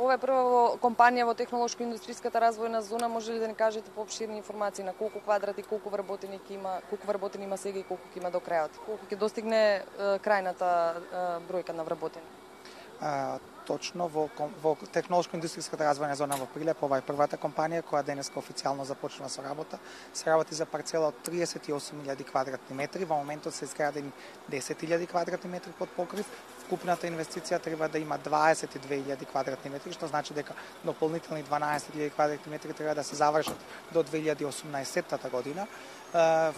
Ова е прва компанија во технолошко-индустријската развојна зона. Може ли да ни кажете поопширни информации на колку квадрати, колку вработени има сега и колку ќе има до крајот? Колку ќе достигне крајната бројка на вработени? Точно во технолошко-индустријската развојна зона во Прилеп, ова е првата компанија која денеска официјално започнува со работа. Се работи за парцела од 38.000 квадратни метри, во моментот се изградени 10.000 квадратни метри под покрив. Вкупната инвестиција треба да има 22.000 квадратни метри, што значи дека дополнителни 12.000 квадратни метри треба да се завршат до 2018 година.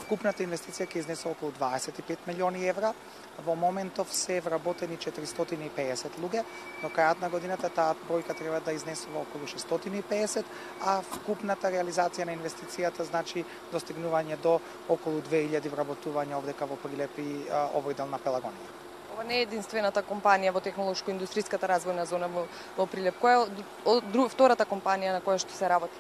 Вкупната инвестиција ќе изнесе околу 25 милиони евра. Во моментов се вработени 450 луѓе, но крајот на годината таа бројка треба да изнесува околу 650, а вкупната реализација на инвестицијата значи достигнување до околу 2000 вработувања овдека во Прилеп и овој дел на Пелагонија. Ова не е единствената компанија во технолошко-индустријската развојна зона во Прилеп. Која е втората компанија на која што се работи?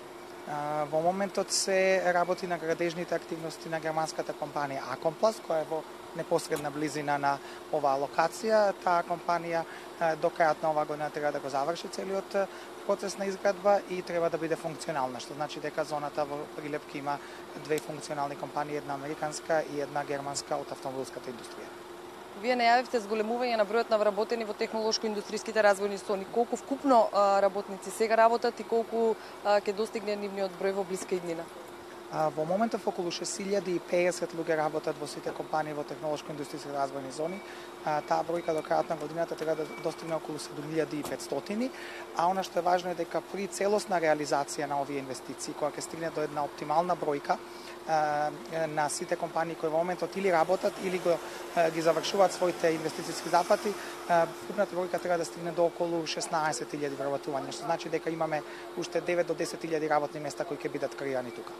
Во моментот се работи на градежните активности на германската компанија Акомпласт, која е во непосредна близина на оваа локација. Таа компанија до крајот на оваа година треба да го заврши целиот процес на изградба и треба да биде функционална, што значи дека зоната во Прилеп ќе има две функционални компании, една американска и една германска од автомобилската индустрија. Вие најавивте зголемување на бројот на вработени во технолошко-индустријските развојни зони. Колку вкупно работници сега работат и колку ќе достигне нивниот број во блиска иднина? Во моментов околу 6050 луѓе работат во сите компании во технолошко-индустријските развојни зони. Таа бројка до крајот на годината треба да достигне околу 7500, а она што е важно е дека при целосна реализација на овие инвестиции, која ќе стигне до една оптимална бројка на сите компании кои во моментот или работат или ги завршуваат своите инвестициски запати, вкупната бројка треба да стигне до околу 16.000 вработувања, што значи дека имаме уште 9 до 10.000 работни места кои ќе бидат креирани тука.